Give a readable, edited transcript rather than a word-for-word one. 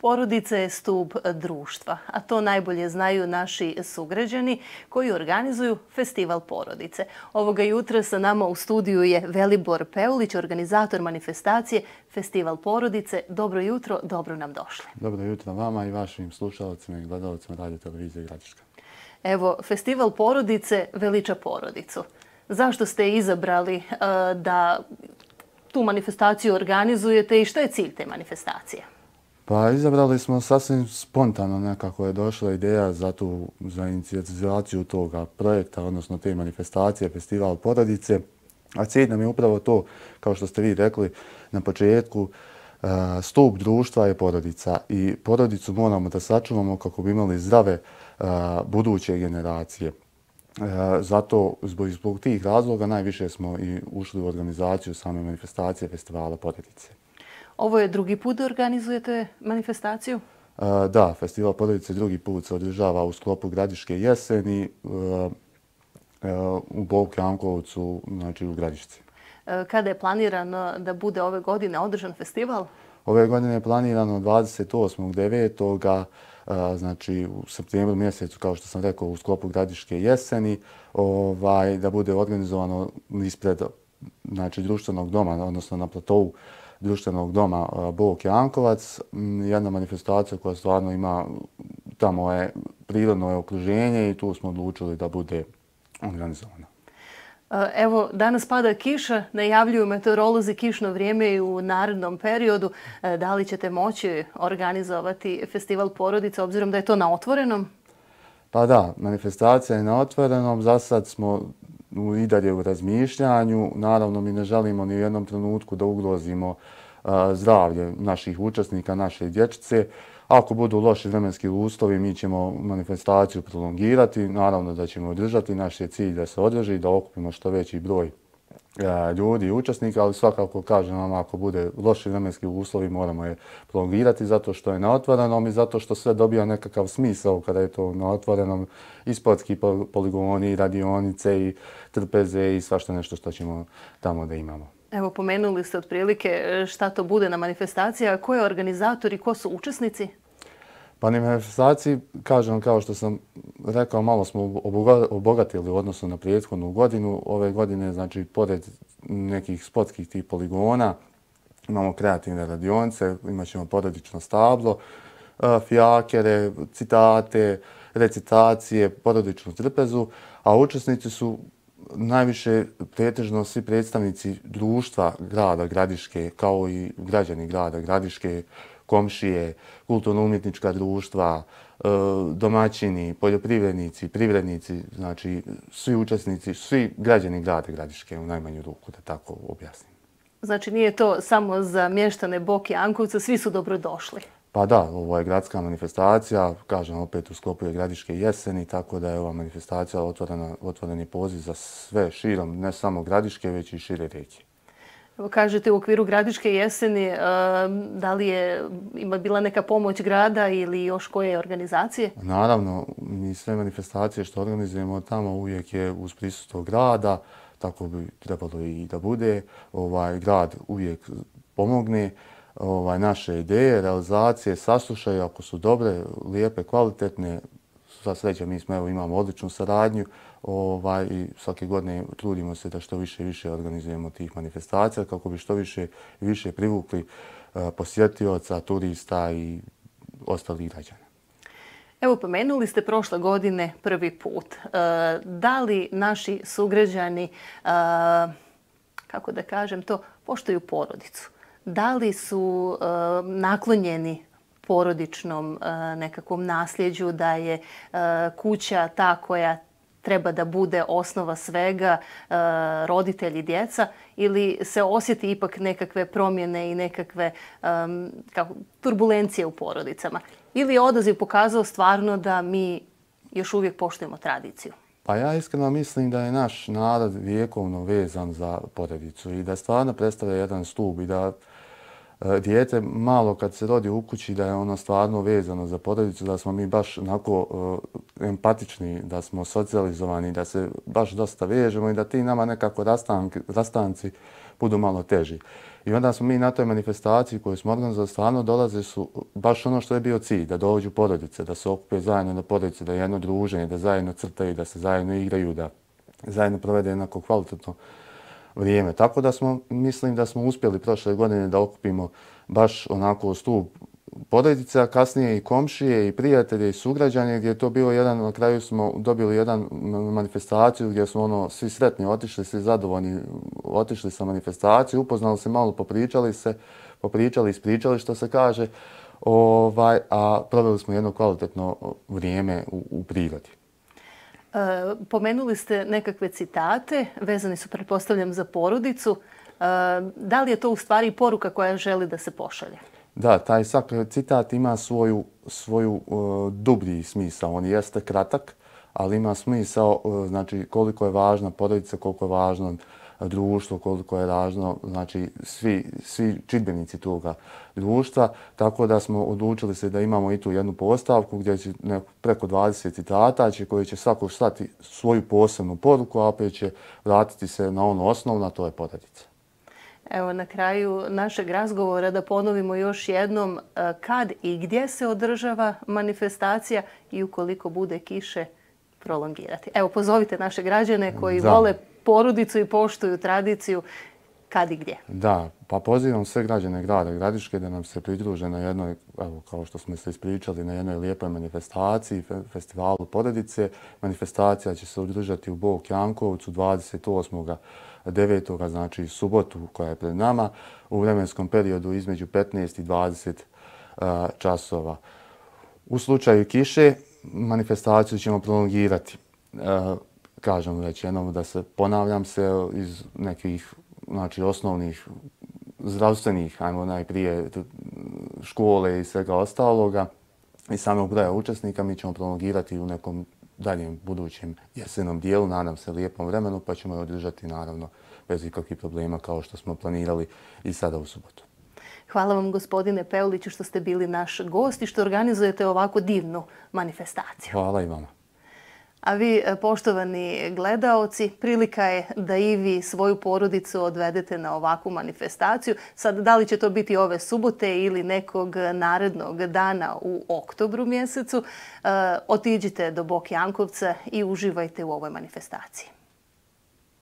Porodica je stup društva, a to najbolje znaju naši sugrađani koji organizuju Festival porodice. Ovoga jutra sa nama u studiju je Velibor Peulić, organizator manifestacije Festival porodice. Dobro jutro, dobro nam došli. Dobro jutro vama i vašim slušalcima i gledalcima Radio Televizije Gradiška. Evo, Festival porodice veliča porodicu. Zašto ste izabrali da tu manifestaciju organizujete i što je cilj te manifestacije? Pa izabrali smo sasvim spontano, nekako je došla ideja za inicijatizaciju toga projekta, odnosno te manifestacije Festival porodice. A cilj nam je upravo to, kao što ste vi rekli na početku, stup društva je porodica i porodicu moramo da sačuvamo kako bi imali zdrave buduće generacije. Zato zbog tih razloga najviše smo i ušli u organizaciju same manifestacije Festivala porodice. Ovo je drugi put da organizujete manifestaciju? Da, Festival porodice drugi put se održava u sklopu Gradiške jeseni u Bovku Jankovcu, znači u Gradišci. Kada je planirano da bude ove godine održan festival? Ove godine je planirano 28.9. Znači u septembru mjesecu, kao što sam rekao, u sklopu Gradiške jeseni, da bude organizovano ispred društvenog doma, odnosno na platovu društvenog doma Bovk Jankovac. Jedna manifestacija koja stvarno ima, tamo je prirodno okruženje i tu smo odlučili da bude organizovana. Evo, danas pada kiša, najavljuju meteorolozi kišno vrijeme i u narednom periodu. Da li ćete moći organizovati Festival porodice, obzirom da je to na otvorenom? Pa da, manifestacija je na otvorenom. Za sad smo i dalje u razmišljanju. Naravno, mi ne želimo ni u jednom trenutku da ugrozimo zdravlje naših učesnika, naše dječice. Ako budu loši vremenski uslovi, mi ćemo manifestaciju prolongirati. Naravno da ćemo održati. Naš je cilj da se održi, da okupimo što veći broj ljudi i učesnika, ali svakako kažem vam, ako bude loši vremenski uslovi, moramo je prolongirati zato što je na otvorenom i zato što sve dobija nekakav smisao kada je to na otvorenom, i sportski poligoni, i radionice, i trpeze i svašta nešto što ćemo tamo da imamo. Evo, pomenuli ste otprilike šta to bude na manifestaciji, a ko je organizator i ko su učesnici? Pa na manifestaciji, kažem, kao što sam rekao, malo smo obogatili u odnosu na prethodnu godinu. Ove godine, znači, pored nekih sportskih tih poligona, imamo kreativne radionice, imat ćemo porodično stablo, fijakere, citate, recitacije, porodičnu trpezu, a učesnici su najviše pretežno svi predstavnici društva grada Gradiške, kao i građani grada Gradiške, komšije, kulturno-umjetnička društva, domaćini, poljoprivrednici, privrednici, znači svi učesnici, svi građani grada Gradiške u najmanju ruku, da tako objasnim. Znači nije to samo za mještane Bovk Jankovca, svi su dobrodošli? Pa da, ovo je gradska manifestacija, kažem opet u sklopu je Gradiške jeseni, tako da je ova manifestacija otvoreni poziv za sve širom, ne samo Gradiške, već i šire regije. Evo kažete u okviru Gradiške jeseni, da li je bila neka pomoć grada ili još koje organizacije? Naravno, mi sve manifestacije što organizujemo tamo uvijek je uz prisustvo grada, tako bi trebalo i da bude. Grad uvijek pomogne. Naše ideje, realizacije saslušaju ako su dobre, lijepe, kvalitetne. Sva sreća, mi imamo odličnu saradnju i svake godine trudimo se da što više i više organizujemo tih manifestacija kako bi što više i više privukli posjetioca, turista i ostalih građana. Evo, pomenuli ste prošle godine prvi put. Da li naši sugrađani, kako da kažem to, poštuju porodicu? Da li su naklonjeni porodičnom nekakvom nasljeđu, da je kuća ta koja treba da bude osnova svega, roditelji, djeca, ili se osjeti ipak nekakve promjene i nekakve turbulencije u porodicama? Ili je odaziv pokazao stvarno da mi još uvijek poštujemo tradiciju? Pa ja iskreno mislim da je naš narod vjekovno vezan za porodicu i da stvarno predstavlja jedan stup i da dijete malo kad se rodi u kući da je ono stvarno vezano za porodicu, da smo mi baš onako empatični, da smo socijalizovani, da se baš dosta vežemo i da ti nama nekako rastanci budu malo teži. I onda smo mi na toj manifestaciji koju smo organizovali, stvarno dolaze su baš ono što je bio cilj, da dođu porodice, da se okupe zajedno na porodice, da je jedno druženje, da zajedno crtaju, da se zajedno igraju, da zajedno provede jednako kvalitetno vrijeme. Tako da mislim da smo uspjeli prošle godine da okupimo baš onako stup porodice, a kasnije i komšije, i prijatelje, i sugrađanje, gdje je to bilo jedan, na kraju smo dobili jedan manifestaciju gdje smo svi sretni otišli, svi zadovoljni otišli sa manifestaciju, upoznali se malo, popričali, ispričali što se kaže, a proveli smo jedno kvalitetno vrijeme u prirodi. Pomenuli ste nekakve citate, vezani su, pretpostavljam, za porodicu. Da li je to u stvari poruka koja želi da se pošalje? Da, taj citat ima svoju dublji smisao. On jeste kratak, ali ima smisao, znači koliko je važna porodica, koliko je važno društvo, koliko je važno, znači svi čimbenici toga društva. Tako da smo odlučili se da imamo i tu jednu postavku gdje će preko 20 citata koji će svako slati svoju posebnu poruku, a opet će vratiti se na ono osnovno, a to je porodica. Evo, na kraju našeg razgovora da ponovimo još jednom kad i gdje se održava manifestacija i ukoliko bude kiše prolongirati. Evo, pozovite naše građane koji vole porodicu i poštuju tradiciju, kad i gdje. Da, pa pozivam sve građane grada Gradiške da nam se pridruže na jednoj, evo, kao što smo se ispričali, na jednoj lijepoj manifestaciji, festivalu porodice. Manifestacija će se održati u Bog Jankovcu 28.9., znači subotu koja je pred nama, u vremenskom periodu između 15 i 20 časova. U slučaju kiše, manifestaciju ćemo prolongirati. Kažem već jednom da se ponavljam se iz nekih osnovnih zdravstvenih, ajmo najprije škole i svega ostaloga i samog broja učesnika mi ćemo prolongirati u nekom daljem budućem jesenom dijelu, nadam se lijepom vremenu, pa ćemo je održati naravno bez ikakvih problema kao što smo planirali i sada u subotu. Hvala vam, gospodine Peuliću, što ste bili naš gost i što organizujete ovako divnu manifestaciju. Hvala i vama. A vi, poštovani gledaoci, prilika je da i vi svoju porodicu odvedete na ovakvu manifestaciju. Sad, da li će to biti ove subote ili nekog narednog dana u oktobru mjesecu, otiđite do Bok Jankovca i uživajte u ovoj manifestaciji.